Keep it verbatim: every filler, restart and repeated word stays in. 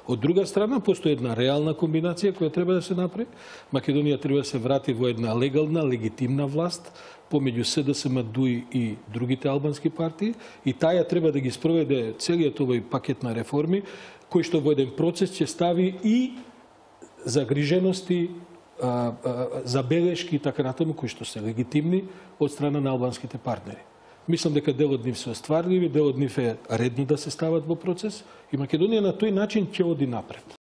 Од друга страна, постои една реална комбинација која треба да се направи. Македонија треба да се врати во една легална, легитимна власт помеѓу С Д С М, Д У И и другите албански партии, и таја треба да ги спроведе целиот овој пакет на реформи, кој што во еден процес ќе стави и загрижености, забелешки и така натаму, кои што се легитимни од страна на албанските партнери. Мислам дека дел од нив се остварливи, дел од нив е редно да се стават во процес и Македонија на тој начин ќе оди напред.